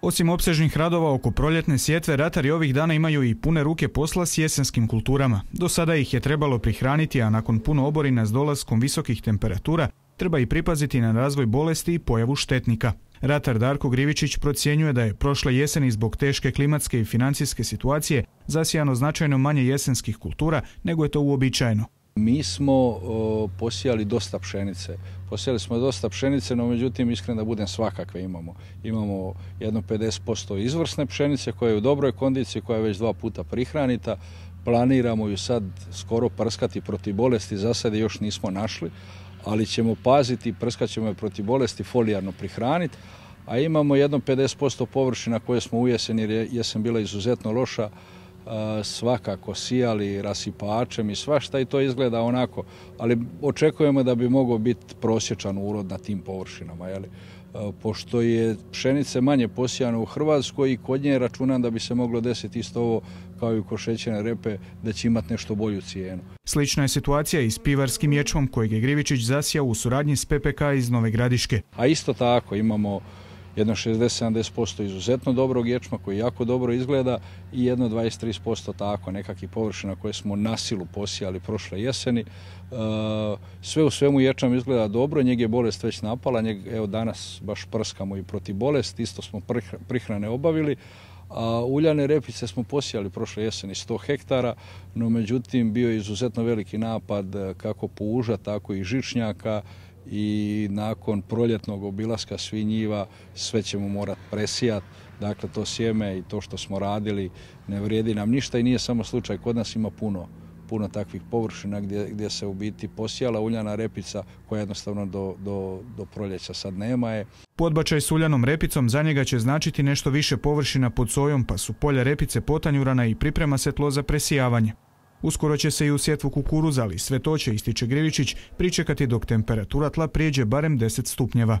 Osim opsežnih radova oko proljetne sjetve, ratari ovih dana imaju i pune ruke posla s jesenskim kulturama. Do sada ih je trebalo prihraniti, a nakon puno oborina s dolaskom visokih temperatura treba i pripaziti na razvoj bolesti i pojavu štetnika. Ratar Darko Grivičić procjenjuje da je prošle jeseni zbog teške klimatske i financijske situacije zasijano značajno manje jesenskih kultura nego je to uobičajeno. Mi smo posijali dosta pšenice. Posijali smo dosta pšenice, no međutim, iskreno da budem, svakakve imamo. Imamo jedno 50% izvrsne pšenice koja je u dobroj kondiciji, koja je već 2 puta prihranita. Planiramo ju sad skoro prskati protiv bolesti, za sad je još nismo našli, ali ćemo paziti, prskat ćemo je protiv bolesti, folijarno prihraniti. A imamo jedno 50% površina koje smo u jesen, jer je jesen bila izuzetno loša, svakako sijali rasipačem i svašta i to izgleda onako, ali očekujemo da bi mogao biti prosječan urod na tim površinama. Pošto je pšenice manje posijano u Hrvatskoj i kod nje računam da bi se moglo desiti isto ovo kao i kod šećerne repe, da će imati nešto bolju cijenu. Slična je situacija i s pivarskim ječmom kojeg je Grivičić zasijao u suradnji s PPK iz Nove Gradiške. A isto tako imamo jedno 60-70% izuzetno dobrog ječma koji jako dobro izgleda i jedno 20-30% tako nekakvih površina koje smo na silu posijali prošle jeseni. Sve u svemu ječam izgleda dobro, njeg je bolest već napala, evo danas baš prskamo i protiv bolesti, isto smo prihrane obavili. A uljane repice smo posijali prošle jeseni 100 hektara, no međutim bio je izuzetno veliki napad kako puža, tako i žičnjaka, i nakon proljetnog obilaska svih njiva sve ćemo morati presijati. Dakle, to sjeme i to što smo radili ne vrijedi nam ništa i nije samo slučaj. Kod nas ima puno takvih površina gdje se u biti posijala uljana repica koja jednostavno do proljeća sad nema je. Podbačaj s uljanom repicom za njega će značiti nešto više površina pod sojom, pa su polja repice potanjurana i priprema se tlo za presijavanje. Uskoro će se i u sjetvu kukuruza, ali sve to će, ističe Grivičić, pričekati dok temperatura tla prijeđe barem 10 stupnjeva.